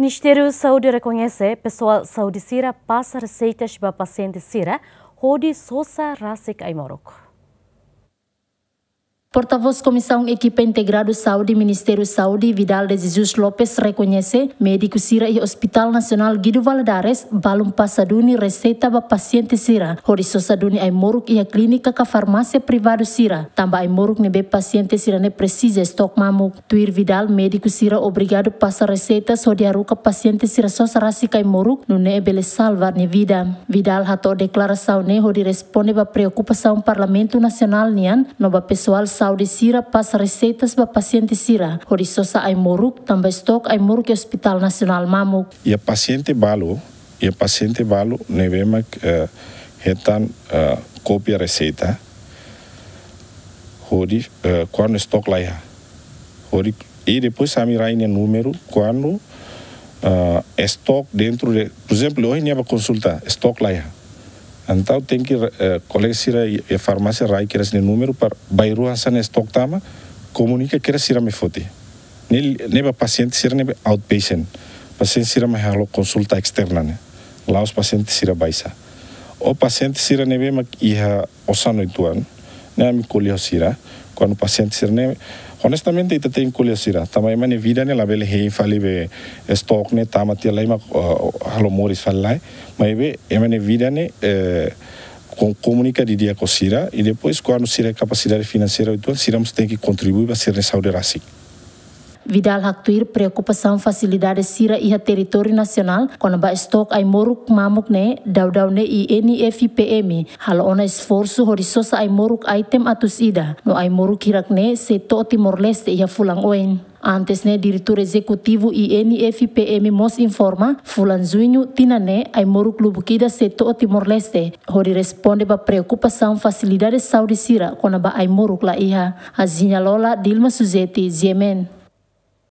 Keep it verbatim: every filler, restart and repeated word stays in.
Ministériu Saúde rekoñese pesoál saúde sira pasa reseitas ba pasiente sira hodi sosa rasik ai-moruk. Portavós Komisaun Ekipa Integradu Saúde Ministériu Saúde, Vidal de Jesus Lopes, rekoñese médiku sira iha Hospital Nasionál Guido Valadares balun pasa duni reseita ba pasiente sira hodi sosa duni ai-moruk iha klínika ka farmásia privadu sira, tanba ai-moruk ne'ebé pasiente sira-ne'e presiza estok mamuk. Tuir Vidal, médiku sira obrigadu pasa reseitas hodi haruka pasiente sira sosa rasik ai-moruk, nune'e bele salva nia vida. Vidal hato'o deklarasaun ne'e hodi responde ba preokupasaun Parlamentu Nasionál nian no ba pesoál saúde sira pasa reseitas ba pasiente sira hodi sosa ai-moruk, tanba estok ai-moruk iha Hospital Nasionál mamuk. Iha pasiente balu, iha pasiente balu ne'ebé mak, eh, hetan, eh, kópia reseita hodi, eh, kuandu estok laiha. Hodi, i depois ami rai nia númeru kuandu, eh, estok dentru de, por ezemplu, ohin nia bá konsulta, estok laiha. Entaun tenke, eh, kolega sira iha, iha farmásia rai kedas nia númeru para bairru hanesan estok tama, komunika kedas sira mai foti. Ne'e, ne'e ba pasiente sira ne'ebé outpatient. Pasiente sira mai halo konsulta esterna ne'e. La'ós pasiente sira baixa. Ou pasiente sira ne'ebé mak iha osan uitoan, ne'e ami ko'alia ho sira. Kuandu pasiente sira-ne'e, honestamente, ita tenke ko'alia ho sira. Tanba ema nia vida ne'e labele hein fali be estok ne'e tama tiha lai mak, uh, halo moris fali lai. Maibé ema nia vida ne'e, eh, ko-, komunika didi'ak ho sira, i depois kuandu sira kapasidade finanseira uitoan, sira mós tenke kontribui ba sira-nia saúde rasik. Vidal haktuir preokupasaun fasilidade sira iha territóriu nasionál kona-ba estok ai-moruk mamuk ne'e, daudaun ne'e INFPM halo ona esforsu hodi sosa ai-moruk item atus ida, no ai-moruk hirak ne'e sei to'o Timor-Leste iha fulan oin. Antes ne'e, Diretór Ezekutivu INFPM mós informa, fulan Juñu tinan ne'e, ai-moruk lubuk ida sei to'o Timor-Leste, hodi responde ba preokupasaun fasilidade saúde sira kona-ba ai-moruk laiha. Aziña Lola, Dilma Suzeti, G M N.